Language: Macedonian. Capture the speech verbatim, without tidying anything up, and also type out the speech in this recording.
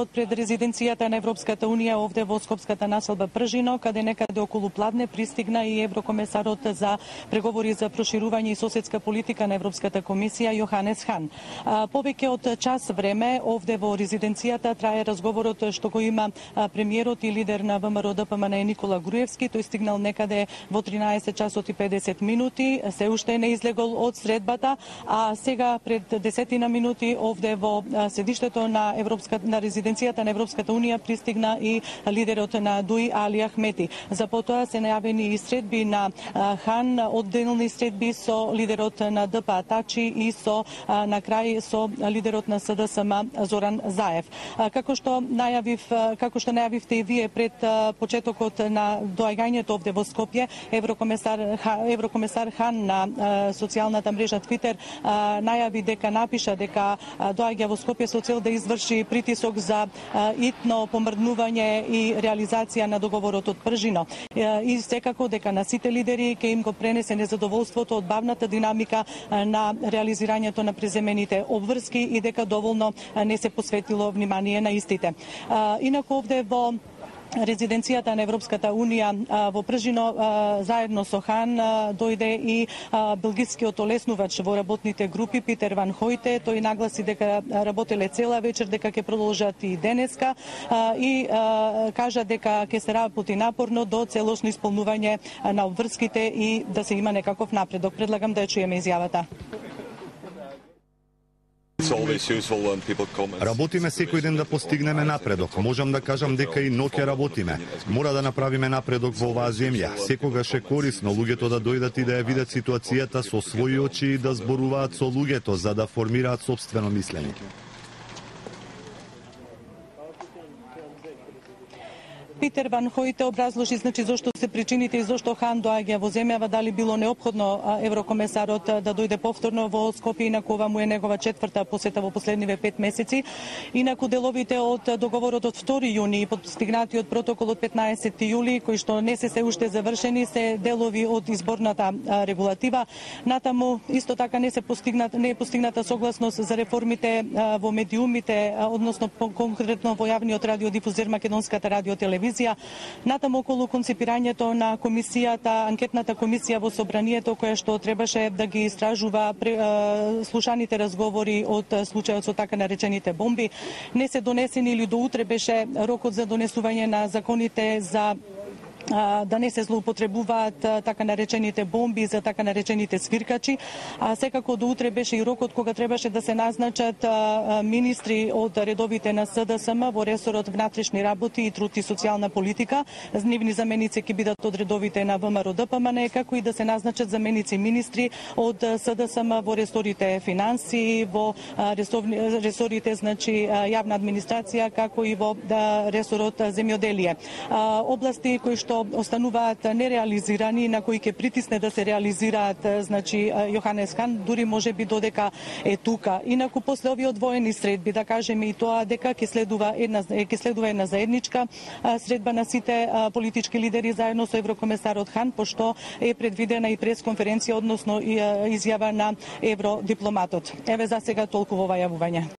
пред резиденцијата на Европската Унија овде во Скопската населба Пржино, каде некаде околу Пладне пристигна и еврокомесарот за преговори за проширување и соседска политика на Европската комисија Јоханес Хан. Повеќе од час време овде во резиденцијата трае разговорот што го има премиерот и лидер на ВМРО Д П М Н Никола Груевски. Тој стигнал некаде во тринаесет часот и педесет минути, се уште не излегол од средбата, а сега пред десетина минути овде во седиштето на Европска на резиденцијата на Европската Унија пристигна и лидерот на ДУИ Али Ахмети. За потоа се најавени и средби на Хан, одделни средби со лидерот на Д П Атачи и со на крај со лидерот на С Д С М Зоран Заев. Како што најавив, како што најавивте и вие пред почетокот на доаѓањето овде во Скопје, еврокомесар еврокомесар Хан на социјалната мрежа Твитер најави дека напиша дека доаѓа во Скопје со цел да изврши притисок за итно помрднување и реализација на договорот од Пржино. И секако дека на сите лидери ќе им го пренесе незадоволството од бавната динамика на реализирањето на преземените обврски и дека доволно не се посветило внимание на истите. Инаку овде во резиденцијата на Европската Унија во Пржино заедно со Хан дојде и белгискиот олеснувач во работните групи Питер Ван Хојте. Тој нагласи дека работеле цела вечер, дека ќе продолжат и денеска и кажа дека ќе се работи напорно до целосно исполнување на обврските и да се има некаков напредок. Предлагам да ја чуеме изјавата. Работиме секој ден да постигнеме напредок. Можам да кажам дека и ноќе работиме. Мора да направиме напредок во оваа земја. Секогаш е корисно луѓето да дојдат и да ја видат ситуацијата со своји очи и да зборуваат со луѓето за да формираат сопствено мислење. Питер Ван Хојте образложи значи зошто се причините и зошто Хан доаѓа во земјава, дали било неопходно еврокомесарот да дојде повторно во Скопје, инаку ова му е негова четврта посета во последниве пет месеци. Инаку деловите од договорот од втори јуни и постигнатиот протокол од петнаесети јули, кои што не се се уште завршени, се делови од изборната регулатива. Натаму исто така не се постигнат не е постигната согласност за реформите во медиумите, односно конкретно во јавниот радиодифузер Македонската радиотелевизија. Натаму околу концепирањето на комисијата, анкетната комисија во собранието која што требаше да ги истражува слушаните разговори од случајот со така наречените бомби, не се донесени или до утре беше рокот за донесување на законите за да не се злоупотребуваат така наречените бомби за така наречените свиркачи, а секако до утре беше и рокот кога требаше да се назначат министри од редовите на С Д С М во ресорот внатрешни работи и труд и социјална политика. Нивни заменици ќе бидат од редовите на В М R O Д П М Н, како и да се назначат заменици министри од С Д С М во ресорите финансии, во ресорите значи јавна администрација, како и во ресорот земјоделие. Области кои што остануваат нереализирани, на кои ќе притисне да се реализираат, значи Јоханес Хан, дури може би додека е тука. Инаку после овие воени средби, да кажеме и тоа дека ќе следува една ќе следува една заедничка средба на сите политички лидери заедно со еврокомесарот Хан, пошто е предвидена и пресконференција, односно и изјава на евродипломатот. Еве за сега толку во ова јавување.